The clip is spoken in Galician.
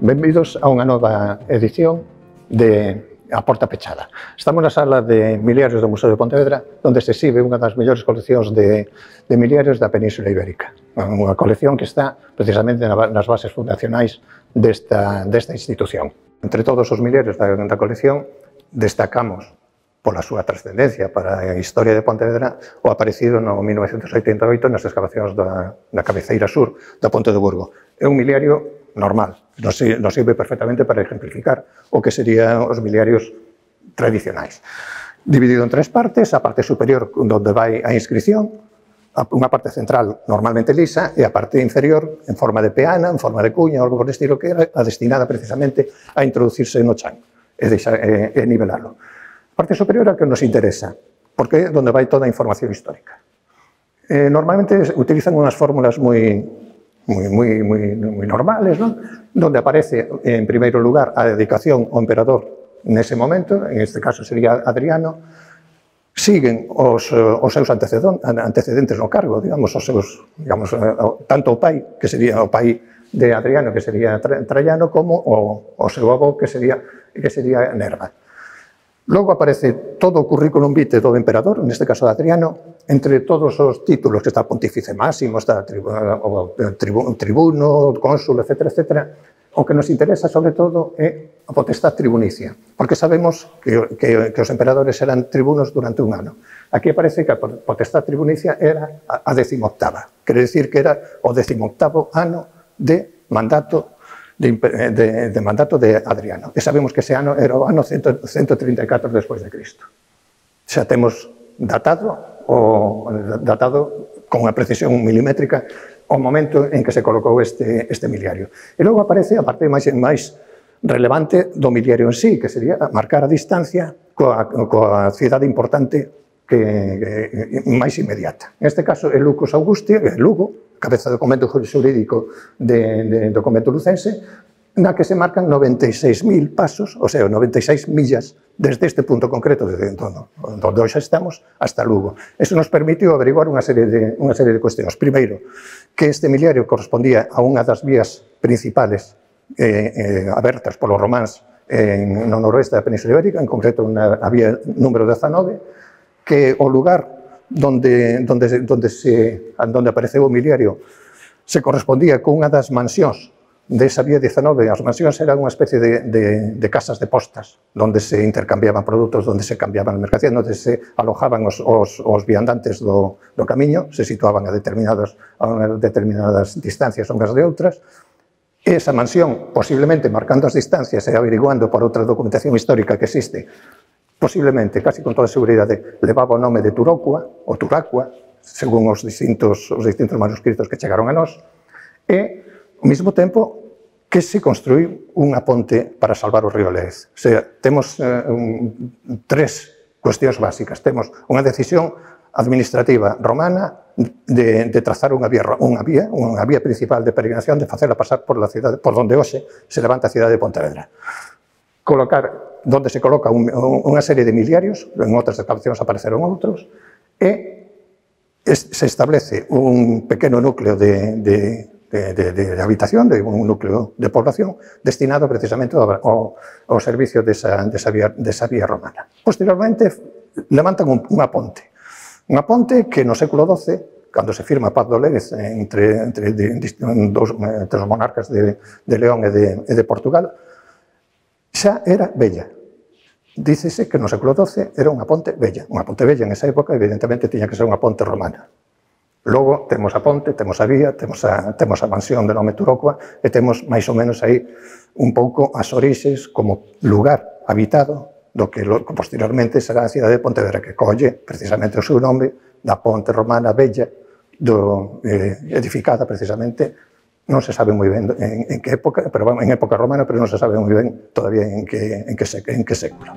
Benvidos a unha nova edición de A Porta Pechada. Estamos na sala de miliarios do Museo de Pontevedra, onde se exhibe unha das mellores coleccións de miliarios da Península Ibérica. Unha colección que está precisamente nas bases fundacionais desta institución. Entre todos os miliarios da colección destacamos pola súa trascendencia para a historia de Pontevedra o aparecido no 1988 nas excavacións da cabeceira sur da Ponte de Burgo. É un miliario normal, nos sirve perfectamente para ejemplificar o que serían os miliarios tradicionais. Dividido en tres partes, a parte superior onde vai a inscripción, unha parte central normalmente lisa e a parte inferior en forma de peana, en forma de cuña, algo por estilo, que era a destinada precisamente a introducirse no chan e nivelarlo. A parte superior é a que nos interesa, porque é onde vai toda a información histórica. Normalmente utilizan unhas fórmulas moi normales, ¿no? Donde aparece en primeiro lugar a dedicación ao emperador nese momento, en este caso sería Adriano, siguen os seus antecedentes no cargo, digamos, tanto o pai, que sería o pai de Adriano, que sería Traiano, como o seu avó, que sería Nerva. Logo aparece todo o currículum vitae do emperador, neste caso de Adriano, entre todos os títulos que está Pontífice Máximo, está tribuno, cónsul, etc. O que nos interesa, sobre todo, é a potestad tribunicia, porque sabemos que os emperadores eran tribunos durante un ano. Aquí aparece que a potestad tribunicia era a 18ª, quere dicir que era o 18º ano de mandato de Adriano. E sabemos que ese ano era o ano 134 despois de Cristo. Xa temos datado con unha precisión milimétrica o momento en que se colocou este miliario. E logo aparece a parte máis relevante do miliario en sí, que sería marcar a distancia coa cidade importante máis inmediata. En este caso, é Lucus Augusti, é Lugo, cabeza do documento xurídico do convento lucense, na que se marcan 96.000 pasos, ou sea, 96 millas desde este punto concreto, desde onde hoxe estamos, hasta Lugo. Eso nos permitiu averiguar unha serie de cuestións. Primeiro, que este miliario correspondía a unha das vías principales abertas polos románs no noroeste da Península Ibérica, en concreto a vía número 19, que o lugar donde apareceu o miliario se correspondía con unha das mansións desa vía 19. As mansións eran unha especie de casas de postas, onde se intercambiaban produtos, onde se cambiaban mercancías, onde se alojaban os viandantes do camiño, se situaban a determinadas distancias unhas de outras. Esa mansión, posiblemente marcando as distancias e averiguando por outra documentación histórica que existe, posiblemente, casi con toda seguridade, levaba o nome de Turocua, ou Turacua, según os distintos manuscritos que chegaron a nós, e, ao mesmo tempo, que se construiu unha ponte para salvar o río Lez. O sea, temos tres cuestións básicas. Temos unha decisión administrativa romana de trazar unha vía principal de peregrinación, de facela pasar por onde hoxe se levanta a cidade de Pontevedra. Donde se coloca unha serie de miliarios, en outras excavacións apareceron outros, e se establece un pequeno núcleo de habitación, un núcleo de población, destinado precisamente ao servicio desa vía romana. Posteriormente, levantan unha ponte que no século XII, cando se firma a Paz do Lérez entre os monarcas de León e de Portugal, xa era bella. Dícese que no século XII era unha ponte bella. Unha ponte bella en esa época, evidentemente, tiña que ser unha ponte romana. Logo, temos a ponte, temos a vía, temos a mansión de nome Turocua e temos, máis ou menos, aí un pouco as orixes como lugar habitado do que posteriormente será a cidade de Pontevedra, que colle precisamente o seu nome da ponte romana bella, edificada precisamente, non se sabe moi ben en que época, pero en época romana, pero non se sabe moi ben todavía en que século.